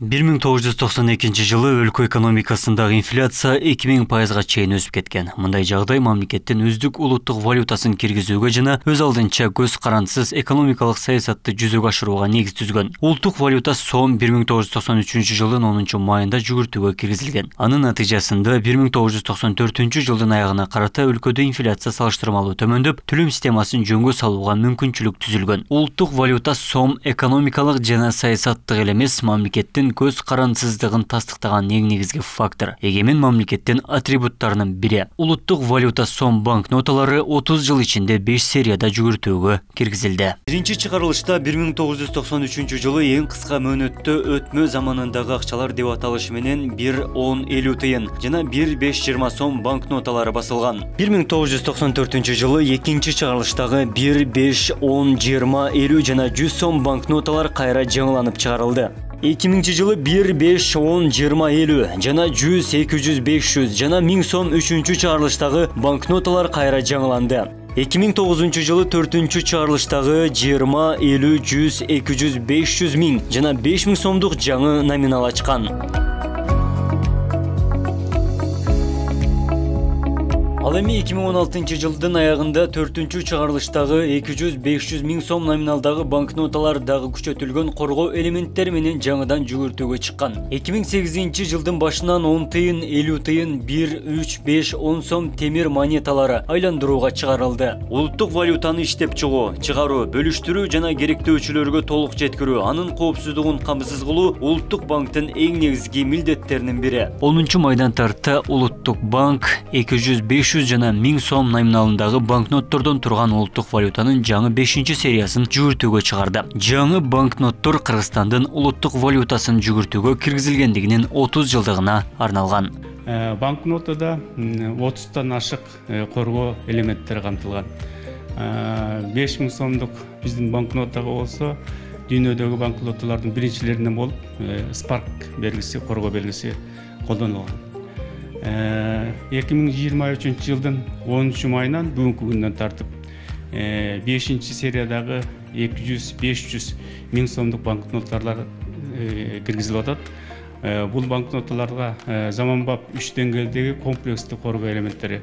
1992 жылы өлкө экономикасындагы инфляция 2000%га чейин өсүп кеткен. Мындай жагдай мамлекеттин өздүк улуттук валютасын киргизүүгө жана өз алдынча көз карандысыз экономикалык саясатты жүзөгө ашырууга негиз түзгөн. Улуттук валюта сом 1993 жылдын 10 майында жүгүртүүгө киргизилген. Анын натыйжасында 1994 жылдын аягына карата өлкөдө инфляция салыштырмалуу төмөндөп, төлөм системасын жөнгө салууга мүмкүнчүлүк түзүлгөн. Улуттук валюта сом экономикалык жана саясаттык эле эмес, мамлекеттин көз карандысыздыгын тастыктаган эң негизги фактор. Эгемен мамлекеттин атрибуттарынын бири. Улуттук валюта сом банкноталары 30 жыл ичинде 5 серияда жүгүртүүгө киргизилди. Биринчи чыгарылышта 1993 жылы эң кыска мөөнөттө өтмө заманындагы акчалар деп аталышы менен 1-10-50 тыйын жана 1-5-20 сом банкноталары басылган. 1994 жылы экинчи чыгарылыштагы 1-5-10-20-50 жана 100 сом банкноталар кайра жаңыланып чыгарылды. 2000 жылы 1-5-10-20-50 жана 100-200-500 жана 1000 сом үчүнчү чыгарылыштагы банкноталар кайра жаңыланды. 2009 жылы 4-чү чыгарылыштагы 20-50-100-200-500 миң жана 5000 сомдук жаңы номинал ачкан. Ал эми 2016 жылдын аягында 4-чү чыгарылыштагы 200-500 миң сом номиналдагы банкноталар дагы күчөтүлгөн коргоо элементтери менен жаңыдан жүгүртүүгө чыккан. 2008 жылдын башынан 10 тыйын, 50 тыйын, 1-3-5-10 сом темир монеталары айландырууга чыгарылды. Улуттук валютаны иштеп чыгуу, чыгаруу, бөлүштүрүү жана керектөөчүлөргө толук жеткирүү, анын коопсуздугун камсыз кылуу Улуттук банктын эң негизги милдеттеринин бири. 10 майдан тарта Улуттук банк 200-500 жана 1000 сом номиналындагы банкноттордон турган улуттук валютанын жаңы 5 сериясын жүгүртүүгө чыгарды. Жаңы банкноттор Кыргызстандын улуттук валютасын жүгүртүүгө киргизилгендигинин 30 жылдыгына арналган. Банкнотада 30тан ашык коргоо элементтери камтылган. 5000 сомдук биздин банкнотага болсо, дүйнөдөгү банкноталардын биринчилеринен болуп, Spark белгиси, коргоо белгиси колдонулган. 2023 жылдын 10 майынан бүгүнкү күндөн тартып 5 сериядагы 200-500 миң сомдук банкноталар киргизилип атат. Бул банкноталарга заманбап 3 деңгээлдеги комплекстик коргоо элементтери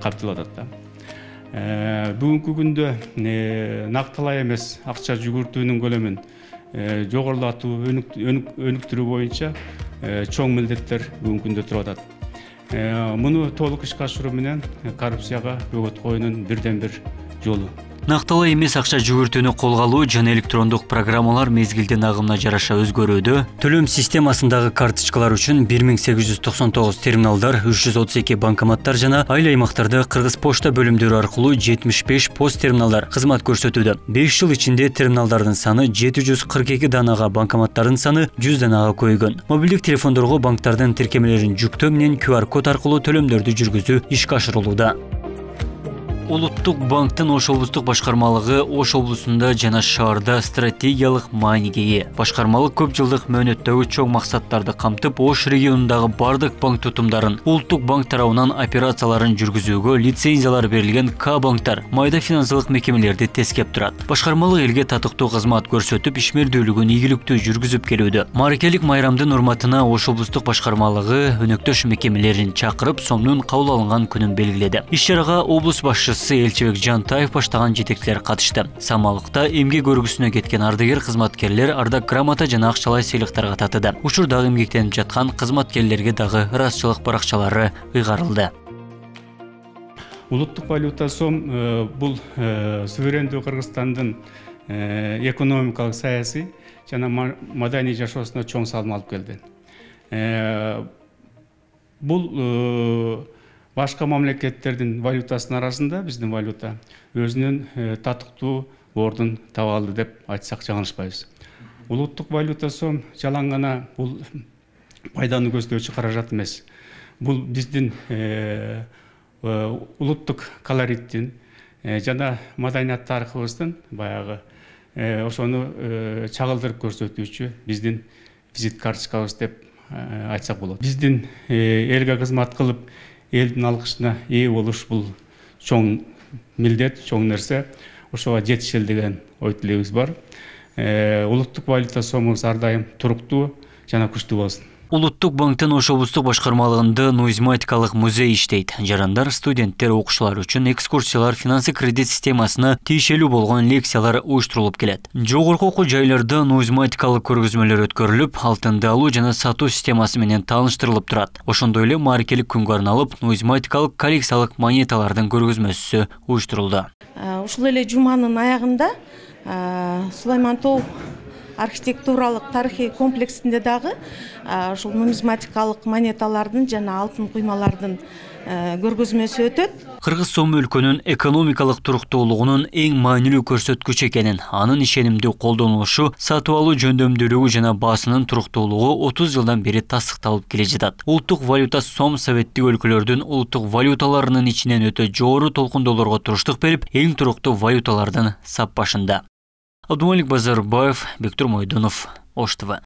камтылып атат. Бүгүнкү күндө нактылай эмес акча жүгүртүүнүн көлөмүн жогорулатуу, өнүктүрүү боюнча чоң милдеттер бүгүнкү күндө туруп атат. Муну толук ишке ашыруу менен коррупцияга өгөт коюунун бирден-бир жолу. Нактылай эмес акча жүгүртүүнү колго алуу жана электрондук программалар мезгилдин агымына жараша өзгөрүүдө. Төлөм системасындагы карточкалар үчүн 1899 терминалдар, 332 банкоматтар жана айыл аймактарда Кыргыз почта бөлүмдөрү аркылуу 75 пост терминалдар кызмат көрсөтүүдө. 5 жыл ичинде терминалдардын саны 742 данага, банкоматтардын саны 100 данага көбөйгөн. Мобилдик телефондорго банктардын тиркемелерин жүктөө менен QR код аркылуу төлөмдөрдү жүргүзүү ишке ашырылууда. Улуттук банктын Ош облустук башкармалыгы Ош облусунда жана шаарда стратегиялык мааниге ээ. Башкармалык көп жылдык мөөнөттөгү чоң максаттарды камтып, Ош регионундагы бардык банк тутумдарын, Улуттук банк тарабынан операцияларын жүргүзүүгө лицензиялар берилген К-банктар, майда финансылык мекемелерди тескеп турат. Башкармалык элге татыктуу кызмат көрсөтүп, ишмердүүлүгүн ийгиликтүү жүргүзүп келүүдө. Мааракелик майрамдын урматына Ош облустук башкармалыгы өнөктөш мекемелерин чакырып, сомдун кабыл алынган күнүн белгиледи. Иш-чарага облус башчысы Элчибек Жантаев баштаган жетекчилер катышты. Самалыкта эмгек өргүсүнө кеткен ардагер кызматкерлер ардак грамота жана акчалай сыйлыктарга татыды. Учурдагы эмгектенип жаткан кызматкерлерге дагы ыраазычылык баракчалары ыйгарылды. Улуттук валюта сом бул суверендүү Кыргызстандын экономикалык, саясий жана маданий жашоосуна чоң салым алып келди. Бул башка мамлекеттердин валютасынын арасында биздин валюта өзүнүн татыктуу ордун таба алды деп айтсак жаңылышпайбыз. Улуттук валюта сом жалаң гана бул пайданы көздөчү каражат эмес. Бул биздин улуттук колориттин жана маданият тарыхыбыздын баягы ошону чагылдырып көрсөтүүчү биздин визит карточкабыз деп айтсак болот. Биздин элге кызмат кылып элдин алкышына ээ болуш бул чоң милдет, чоң нерсе. Ошого жетишели деген ой тилегибиз бар. Улуттук валюта сомубуз ар дайым туруктуу жана күчтүү болсун. Улуттук банктын Ош облустук башкармалыгында нумизматикалык музей иштейт. Жарандар, студенттер, окуучулар үчүн экскурсиялар, финансы кредит системасына тиешелүү болгон лекциялар уюштурулуп келет. Жогорку окуу жайларда нумизматикалык көргөзмөлөр өткөрүлүп, алтынды алуу жана сатуу системасы менен тааныштырылып турат. Ошондой эле мааракелик күнгө арналып, нумизматикалык коллекциялык монеталардын көргөзмөсү уюштурулду. Ушул эле жуманын аягында Сулайман Тоо архитектуралык тарыхый комплексинде дагы ушул нумизматикалык монеталардын жана алтын куймалардын көргөзмөсү өтөт. Кыргыз сому өлкөнүн экономикалык туруктуулугунун эң маанилүү көрсөткүчү экенин, анын ишенимдүү колдонулушу, сатып алуу жөндөмдүүлүгү жана баасынын туруктуулугу 30 жылдан бери тастыкталып келе жатат. Улуттук валюта сом советтик өлкөлөрдүн улуттук валюталарынын ичинен өтө жогору толкундоолорго туруштук берип, эң туруктуу валюталардын сап башында. Абдумалик Базарбаев, Бектур Мойдунов, Ош ТВ.